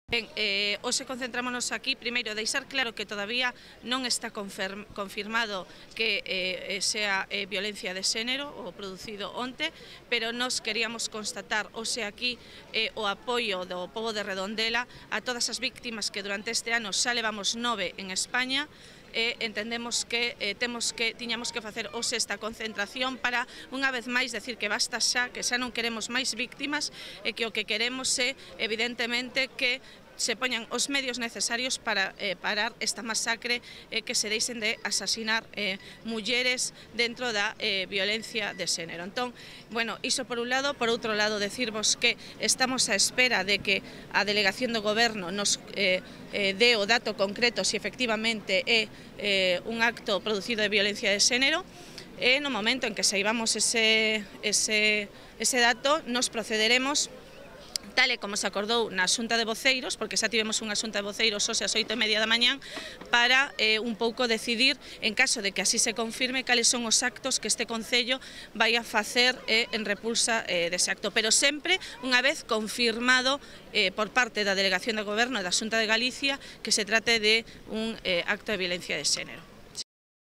Ben, hoxe concentrámonos aquí, primeiro, deixar claro que todavía non está confirmado que sea violencia de xénero o producido onte, pero nos queríamos constatar hoxe aquí o apoio do pobo de Redondela a todas as víctimas que durante este ano xa levamos 9 en España. Entendemos que tiñamos que facer hoxe esta concentración para, unha vez máis, decir que basta xa, que xa non queremos máis víctimas e que o que queremos é, evidentemente, que se poñan os medios necesarios para parar esta masacre que se deixen de asasinar mulleres dentro da violencia de xénero. Entón, bueno, iso por un lado. Por outro lado, decirvos que estamos á espera de que a Delegación do Goberno nos dé o dato concreto se efectivamente é un acto producido de violencia de xénero. E no momento en que saibamos ese dato, nos procederemos tal e como se acordou na Xunta de Voceiros, porque xa tivemos unha Xunta de Voceiros hoxe ás 8:30 da mañán, para un pouco decidir, en caso de que así se confirme, cales son os actos que este Concello vai a facer en repulsa dese acto, pero sempre unha vez confirmado por parte da Delegación do Goberno e da Xunta de Galicia que se trate de un acto de violencia de xénero.